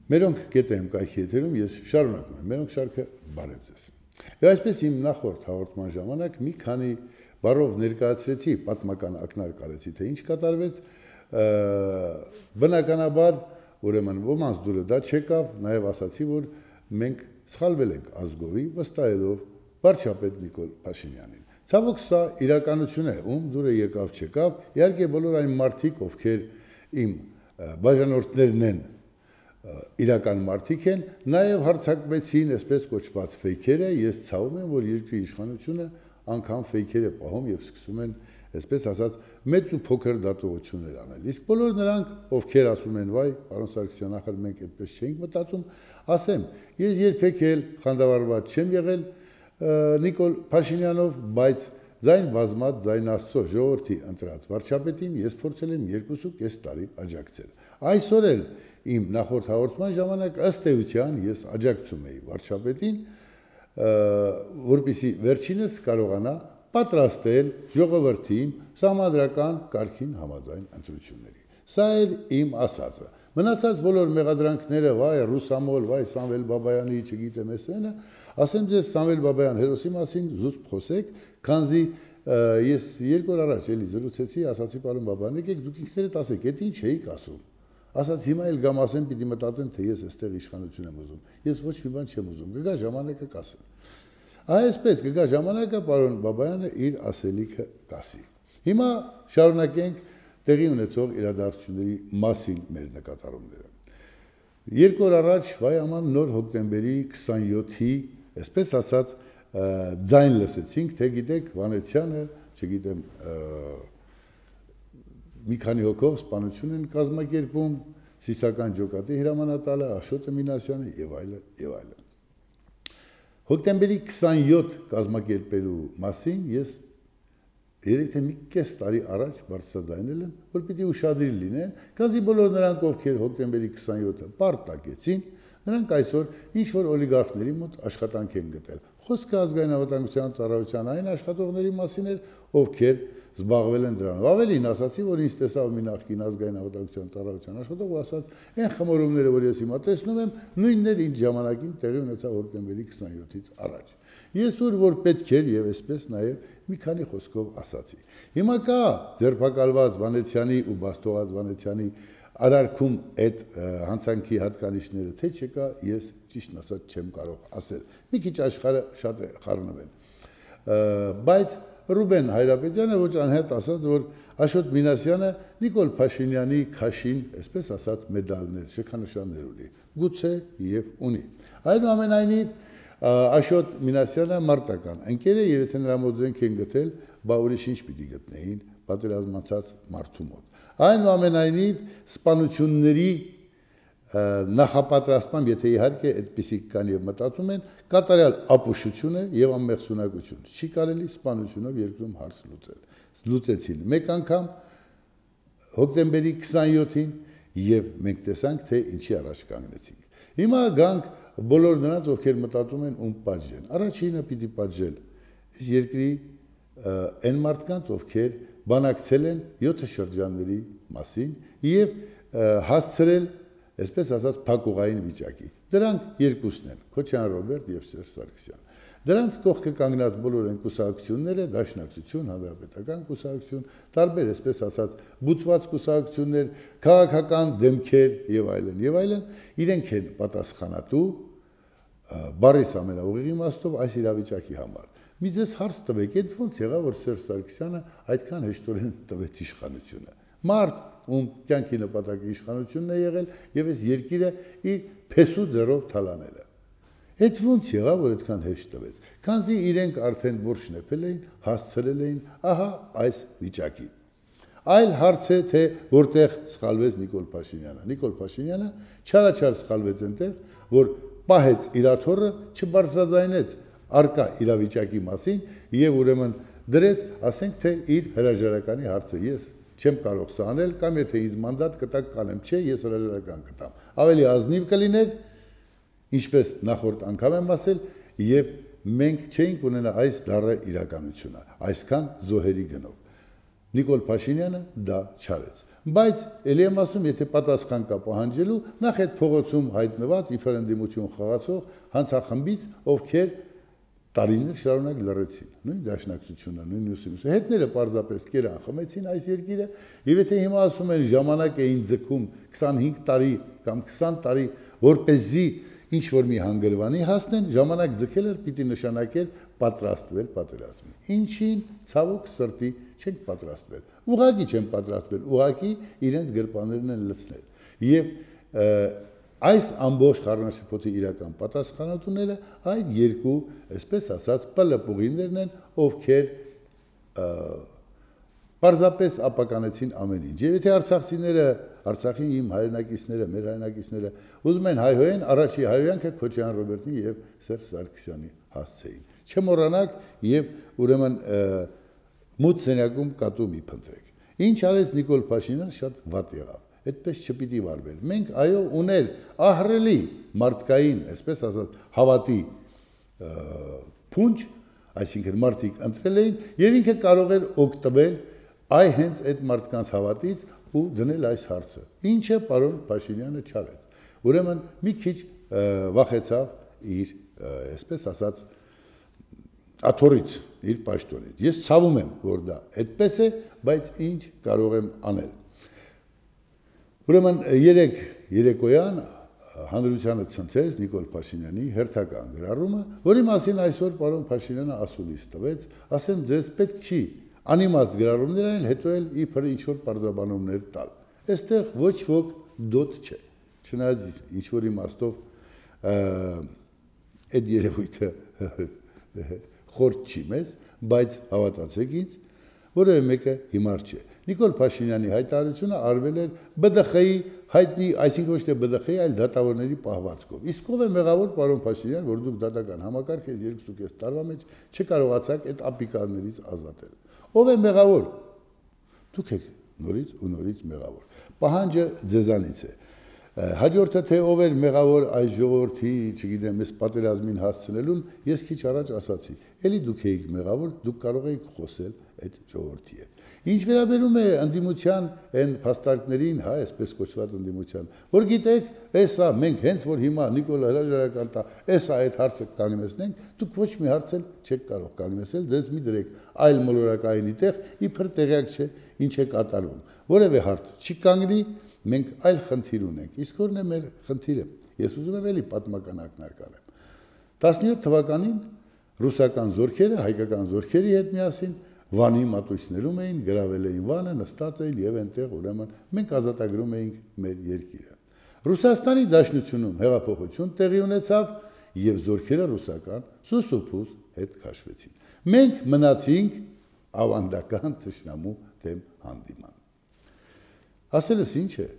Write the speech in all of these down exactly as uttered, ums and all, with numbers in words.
Մերոնք գետեմ կայքի եթերում ես շարունակում եմ, մերոնք շարքը բարև ձեզ։ Եվ այսպես իմ նախորդ հաղորդման ժամանակ մի քանի բառով ներկայացրեցի, պատմական ակնարկ արեցի, թե ինչ կատարվեց, բնականաբար, ուրեմն ոմանց դուրը դա չեկավ, նաև ասացի, որ մենք սխալվել ենք ազգովի, վստահելով վարչապետ Նիկոլ Փաշինյանին։ Ցավոք սա իրականություն է, ում դուրը եկավ չեկավ, իհարկե բոլոր այն մարդիկ, ովքեր իմ բաժանորդներն են, իրական մարդիկ են, նաև հարձակվեցին այսպես կոչված ֆեյքերը, ես ցավում եմ, որ երկրի իշխանությունը անգամ ֆեյքերը պահում եւ սկսում են, այսպես ասած, մեծ ու փոքր դատողություններ անել։ Իսկ բոլոր նրանք, ովքեր ասում են, վայ, պարոն Սարգսյան, ախր մենք այդպես չէինք մտածում, ասեմ, ես երբեք էլ խանդավառված չեմ եղել Նիկոլ Փաշինյանով, բայց ձայն բազմած, ձայն Աստծո ժողովրդի ընտրած վարչապետին ես փորձել եմ երկու ու կես տարի աջակցել։ Այսօր էլ իմ նախորդ հաղորդման ժամանակ ըստ էության ես աջակցում էի վարչապետին, որպեսզի վերջինս կարողանա պատրաստել ժողովրդին սահմանադրական կարգին համաձայն ընտրությունների։ Սա էր իմ ասածը։ Մնացած բոլոր մեղադրանքները, վայ, Ռուսամոլ, վայ, Սամվել Բաբայանի, չգիտեմ էսենը, ասեմ ձեզ Սամվել Բաբայան հերոսի մասին զուսպ խոսեք, քանզի ես երկու օր առաջ էլի զրուցեցի, ասացի պարոն Բաբայան, եկեք դուք ինքներդ ասեք, էդ ինչ էիք ասում։ Ասաց հիմա էլ գամ ասեմ, պիտի մտածեն, թե ես այստեղ իշխանություն եմ ուզում։ Ես ոչ մի բան չեմ ուզում, կգա ժամանակը կասեմ։ Այսպես կգա ժամանակը պարոն Բաբայանը իր ասելիքը կասի։ Հիմա շարունակենք տեղի ունեցող իրադարձությունների մասին մեր նկատառումները։ Երկու օր առաջ վայ աման նոր հոկտեմբերի քսանյոթի, այսպես ասած, ձայն լսեցինք, թե գիտեք Վանեցյանը, չգիտեմ, մի քանի հոգով սպանություն են կազմակերպում, Սիսական ջոկատի հրամանատարը, Աշոտը Մինասյանը եւ այլն եւ այլն։ Հոկտեմբերի քսանյոթ կազմակերպելու մասին ես երեք թե մի կես տարի առաջ բարձրաձայնել եմ, որ պիտի ուշադիր լինեն, քանզի բոլոր նրանք, ովքեր հոկտեմբերի քսանյոթը պարտակեցին, նրանք այսօր ինչ-որ օլիգարխների մոտ աշխատանք են գտել։ Խոսքը ազգային անվտանգության ծառայության այն աշխատողների մասին էր, ովքեր զբաղվել են դրանով։ Ավելին ասացի, որ ինձ տեսավ մի նախկին ազգային անվտանգության ծառայության աշխատող ու ասաց, այն խմորումները, որ ես հիմա տեսնում եմ, նույնն էր ինչ ժամանակին տեղի ունեցավ հոկտեմբերի քսանյոթից առաջ։ Ես ուր որ պետք էր եւ այսպես նաեւ մի քանի խոսքով ասացի։ Հիմա կա ձերբակալված Վանեցյանի ու Բաստողած Վանեցյանի արարքում այդ հանցանքի հատկանիշները թե չկա, ես ճիշտ ասած չեմ կարող ասել։ Մի քիչ աշխարհը շատ է խառնվել։ Բայց Ռուբեն Հայրապետյանը ոչ անհետ ասաց, որ Աշոտ Մինասյանը Նիկոլ Փաշինյանի քաշին, այսպես ասած, մեդալներ, շքանշաններ ունի, գուցե եւ ունի։ Այնուամենայնիվ Աշոտ Մինասյանը մարտական ընկեր է եւ եթե նրա մոտ զենք են գտել, բա ուրիշ ինչ պիտի գտնեին պատերազմացած մարդու մոտ։ Այնուամենայնիվ սպանությունների նախապատրաստման, եթե իհարկե այդպիսի կան եւ մտածում են, կատարյալ ապուշություն է եւ անմեղսունակություն։ Չի կարելի սպանությունով երկրում հարց լուծել։ Լուծեցին մեկ անգամ հոկտեմբերի քսանյոթին եւ մենք տեսանք, թե ինչի առաջ կանգնեցինք։ Հիմա գանք բոլոր նրանց, ովքեր մտածում են ում պատժեն։ Առաջինը պիտի պատժել այս երկրի այն մարդկանց, ովքեր բանակցել են յոթ շրջանների մասին եւ հասցրել, այսպես ասած, փակուղային վիճակի։ Դրանք երկուսն են՝ Քոչարյան Ռոբերտ եւ Սերժ Սարգսյան։ Դրանց կողքը կանգնած բոլոր են կուսակցությունները, Դաշնակցություն, Հանրապետական կուսակցություն, տարբեր, այսպես ասած, բուծված կուսակցություններ, քաղաքական դեմքեր եւ այլն եւ այլն, իրենք են պատասխանատու բառիս ամենաուղիղ իմաստով այս իրավիճակի համար։ Մի ձեզ հարց տվեք, այդ ո՞նց եղավ, որ Սերժ Սարգսյանը այդքան հեշտորեն տվեց իշխանությունը։ Մարդ, ում կյանքի նպատակը իշխանությունն է եղել եւ այս երկիրը իր փեսու ձեռով թալանել է։ Այդ ո՞նց եղավ, որ այդքան հեշտ տվեց։ Քանզի իրենք արդեն որ շնեփել էին, հասցրել էին ահա այս վիճակին։ Այլ հարց է, թե որտեղ սխալվեց Նիկոլ Փաշինյանը։ Նիկոլ Փաշինյանը չարաչար սխալվեց այնտեղ, որ պահեց իրաթորը, չբարձրաձայնեց արկա իրավիճակի մասին եւ ուրեմն դրեց, ասենք թե իր հրաժարականի հարցը ես չեմ կարող սա անել կամ եթե ինձ մանդատ կտակ կանեմ, չէ, ես հրաժարական կտամ։ Ավելի ազնիվ կլիներ, ինչպես նախորդ անգամ եմ ասել, եւ մենք չէինք ունենա այս դառը իրականությունը, այսքան զոհերի գնով։ Նիկոլ Փաշինյանը դա չարեց։ Բայց ելի եմ ասում, եթե պատասխան կա պահանջելու, նախ այդ փողոցում հայտնված իբր ընդդիմություն խաղացող հանցախմբից, ովքեր տարիներ շարունակ լռեցին, նույն դաշնակցությունը, նույն մյուսը, հետները պարզապես կերան, խմեցին այս երկիրը, եւ եթե հիմա ասում են ժամանակ էին ձգում քսանհինգ տարի կամ քսան տարի, որպեսզի ինչ որ մի հանգրվանի հասնեն, ժամանակ ձգել էր պիտի նշանակել պատրաստվել պատերազմի։ Ինչին ցավոք սրտի չենք պատրաստվել։ Ուղղակի չեն պատրաստվել, ուղղակի իրենց գրպաններն են լցնել։ Եվ այս ամբողջ խառնաշփոթի իրական պատասխանատուները այդ երկու, այսպես ասած, պլպուղիներն են, ովքեր պարզապես ապականեցին ամեն ինչ։ Եվ եթե արցախցիները, Արցախի իմ հայրենակիցները, մեր հայրենակիցները ուզում են հայհոյեն, առաջի հայհոյանքը Քոչարյան Ռոբերտի եւ Սերժ Սարգսյանի հասցեին։ Չմոռանաք եւ ուրեմն մութ սենյակում կատու մի փնտրեք։ Ինչ արեց Նիկոլ Փաշինյանը, շատ վատ եղավ։ Այդպես չպիտի վարվել։ Մենք այո ուներ ահռելի մարդկային, այսպես ասած, հավատի փունջ, այսինքն մարդիկ ընտրել էին եւ ինքը կարող էր օգտվել այ հենց այդ մարդկանց հավատից ու դնել այս հարցը։ Ինչը պարոն Փաշինյանը չարեց։ Ուրեմն մի քիչ վախեցավ իր, այսպես ասած, աթոռից, իր պաշտոնից։ Ես ցավում եմ, որ դա այդպես է, բայց ինչ կարող եմ անել։ Ուրեմն երեք երեկոյան հանրությանը ցնցեց Նիկոլ Փաշինյանի հերթական գրառումը, որի մասին այսօր պարոն Փաշինյանը ասուլիս տվեց, ասեմ ձեզ պետք չի անիմաստ գրառումներ այն, հետո էլ իբր ինչ-որ պարզաբանումներ տալ։ Այստեղ ոչ ոք դոտ չէ, չնայած ինչ-որ իմաստով այդ երևույթը խորտ չի մեզ, բայց հավատացեք ինձ, որևէ մեկը հիմար չէ։ Նիկոլ Փաշինյանի հայտարարությունը արվել էր B D X-ի հայտնի, այսինքն ոչ թե B D X-ի, այլ դատավորների պահվածքով։ Իսկ ով է մեղավոր պարոն Փաշինյան, որ դուք դատական համակարգ եք երկուսուկես տարվա մեջ չկարողացաք այդ ապիկարներից ազատել։ Ով է մեղավոր։ Դուք եք նորից ու նորից մեղավոր։ Պահանջը ձեզանից է։ Հաջորդը թե ով էր մեղավոր այս ժողովրդի, չգիտեմ, այս պատերազմին հասցնելուն, ես քիչ առաջ ասացի։ Էլի դուք եք մեղավոր, դուք կարող եք խոսել այդ ժողովրդի հետ։ Ինչ վերաբերում է ընդդիմության այն փաստարկներին, հա, այսպես կոչված ընդդիմության, որ գիտեք, էսա մենք հենց որ հիմա Նիկոլ հրաժարական տա, էսա այդ հարցը կանգնեցնենք, դուք ոչ մի հարց էլ չեք կարող կանգնեցնել, ձեզ մի դրեք այլ մոլորակայինի տեղ, իբր տեղյակ չէ ինչ է կատարվում։ Որևէ հարց չի կանգնի, մենք այլ խնդիր ունենք։ Իսկ որն է մեր խնդիրը։ Ես ուզում եմ էլի պատմական ակնարկ անեմ։ տասնյոթ թվականին ռուսական զորքերը հայկական զորքերի հետ միասին Վանի մատույցներում էին, գրավել էին Վանը, նստած էին եւ այնտեղ ուրեմն մենք ազատագրում էինք մեր երկիրը։ Ռուսաստանի Դաշնությունում հեղափոխություն տեղի ունեցավ եւ զորքերը ռուսական սուսուփուս հետ քաշվեցին։ Մենք մնացինք ավանդական թշնամու դեմ հանդիման։ Ասելս ինչ է։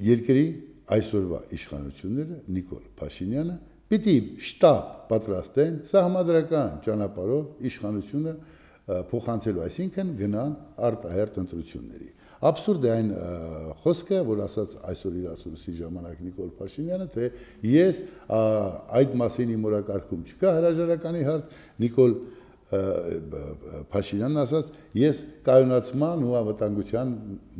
Երկրի այսօրվա իշխանությունները Նիկոլ Փաշինյանը պիտի շտապ պատրաստեն սահմանադրական ճանապարհով իշխանությունը փոխանցելու, այսինքն գնան արտահերտ ընտրությունների։ Абսուրդ է այն խոսքը, որ ասաց այսօր իր ասուլիսի ժամանակ Նիկոլ Փաշինյանը, թե ես այդ մասին իմ օրակարգում չկա հրաժարականի հարց, Նիկոլ Փաշինյանն ասաց, ես կայունացման ու անվտանգության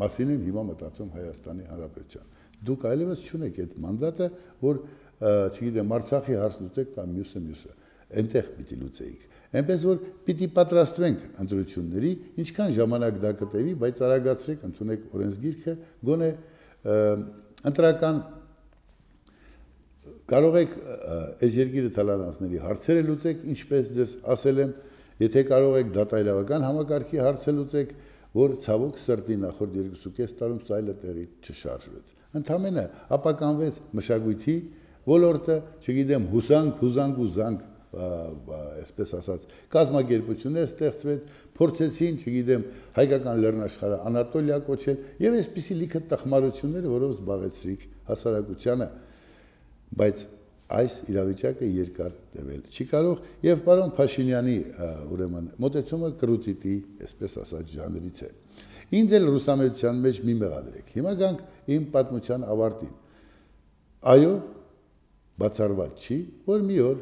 մասին եմ հիմա մտածում Հայաստանի Հանրապետության։ Դուք այլևս չունեք այդ մանդատը, որ չգիտեմ, Արցախի հարց լուծեք կամ մյուսը մյուսը, այնտեղ պիտի լուծեիք։ Այնպես որ պիտի պատրաստվենք ընտրությունների, ինչքան ժամանակ դա կտևի, բայց արագացրեք, ընդունեք օրենսգիրքը, գոնե ընտրական կարող եք այս երկիրը թալանացների հարցերը լուծեք, ինչպես ձեզ ասել եմ, եթե կարող եք դատայլավական համակարգի հարցը լուծեք, որ ցավոք սրտի նախորդ երկուսուկես տարում սայլը տեղի չշարժվեց։ Ընդամենը ապականվեց մշակույթի ոլորտը, չգիտեմ, հուսանք, հուզանք ու զանք, այսպես ասած, կազմակերպություններ ստեղծվեց, փորձեցին, չգիտեմ, հայկական լեռնաշխարհը Անատոլիա կոչել եւ այսպիսի լիքը տխմարությունները, որով զբաղեցրիք հասարակությանը, բայց այս իրավիճակը երկար տևել չի կարող եւ պարոն Փաշինյանի ուրեմն մոտեցումը կրուծիտի, այսպես ասած, ժանրից է։ Ինձ էլ ռուսամեծության մեջ մի մեղադրեք։ Հիմա գանք իմ պատմության ավարտին։ Այո, բացառված չի, որ մի օր,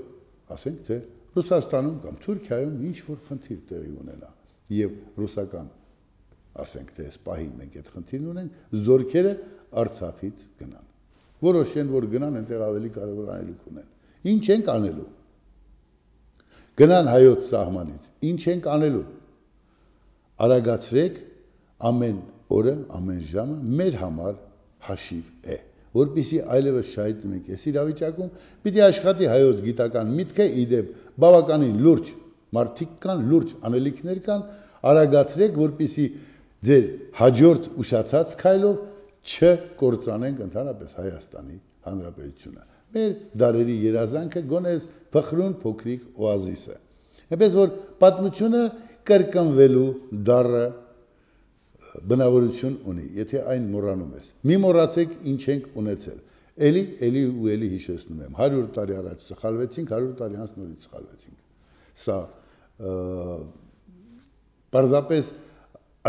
ասենք թե Ռուսաստանում կամ Թուրքիայում ինչ որ խնդիր տեղի ունենա եւ ռուսական ասենք թե այս պահին մենք այդ խնդիրն ունենք, զորքերը Արցախից գնան։ Որոշեն, որ գնան, այնտեղ ավելի կարևոր անելիք ունեն։ Ինչ ենք անելու։ Գնան հայոց սահմանից, ինչ ենք անելու։ Արագացրեք ամեն օրը, ամեն ժամը մեր համար հաշիվ է, որպեսզի այլևս շահիտնենք այս իրավիճակում, պիտի աշխատի հայոց գիտական միտքը, իդեպ բավականին լուրջ մարդիկ կան, լուրջ անելիքներ կան, արագացրեք, որպեսզի ձեր հաջորդ ուշացած քայլով չկործանենք ընդհանրապես Հայաստանի Հանրապետությունը։ Մեր դարերի երազանքը գոնե փխրուն փոքրիկ օազիսը։ Այնպես որ պատմությունը կրկնվելու դառը բնավորություն ունի, եթե այն մոռանում ես։ Մի մոռացեք ինչ ենք ունեցել։ Էլի, էլի ու էլի հիշեցնում եմ։ հարյուր տարի առաջ սխալվեցինք, հարյուր տարի անց նորից սխալվեցինք։ Սա պարզապես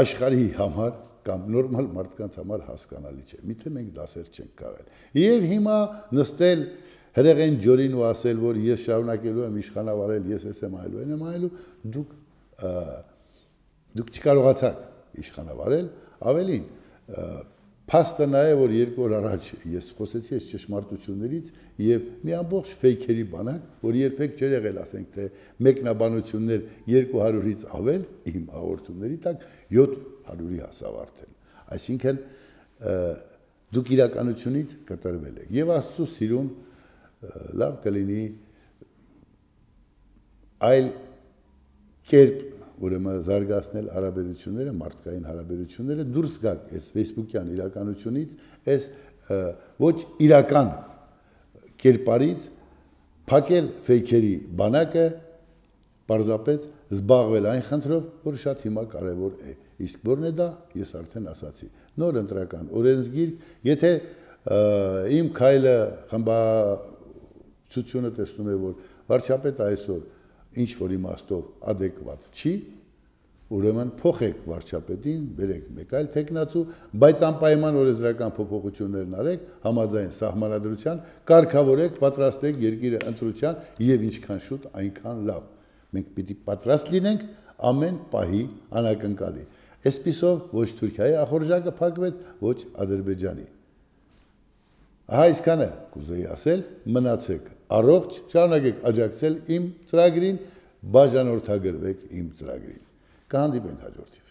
աշխարհի համար կամ նորմալ մարդկանց համար հասկանալի չէ։ Միթե մենք դասեր չենք քաղել։ Եվ հիմա նստել հրեղեն ջորին ու ասել, որ ես շարունակելու եմ իշխանավարել, ես ես եմ այլու, այն եմ այլու, դուք դուք չկարողացաք իշխանավարել, ավելին փաստը նա է, որ երկու օր առաջ ես խոսեցի այս ճշմարտություններից եւ մի ամբողջ ֆեյքերի բանակ, որ երբեք չէր եղել, ասենք թե մեկնաբանություններ երկու հարյուրից ավել իմ հաղորդումների տակ յոթ հարյուրի հասավ արդեն։ Այսինքն դուք իրականությունից կտրվել եք եւ Աստծո սիրուն լավ կլինի այլ կերպ ուրեմն զարգացնել հարաբերությունները, մարդկային հարաբերությունները, դուրս գաք այս Facebook-յան իրականությունից, այս ոչ իրական կերպարից, փակել ֆեյքերի բանակը, պարզապես զբաղվել այն խնդրով, որ շատ հիմա կարևոր է։ Իսկ որն է դա, ես արդեն ասացի։ Նոր ընտրական օրենսգիրք, եթե իմ քայլը խմբացությունը տեսնում է, որ վարչապետը այսօր ինչ որ իմաստով adekvat չի, ուրեմն փոխեք վարչապետին, բերեք մեկ այլ տեխնացու, բայց անպայման օրենսդրական փոփոխություններն արեք, համաձայն սահմանադրության, կարգավորեք, պատրաստեք երկիրը ընտրության եւ ինչքան շուտ, այնքան լավ։ Մենք պիտի պատրաստ լինենք ամեն պահի անակնկալի։ Այսպիսով ոչ Թուրքիայի ախորժակը փակվեց, ոչ Ադրբեջանի։ Ահա այսքանը կուզեի ասել, մնացեք առողջ, շարունակեք աջակցել իմ ծրագրին, բաժանորդագրվեք իմ ծրագրին։ Կհանդիպենք հաջորդիվ։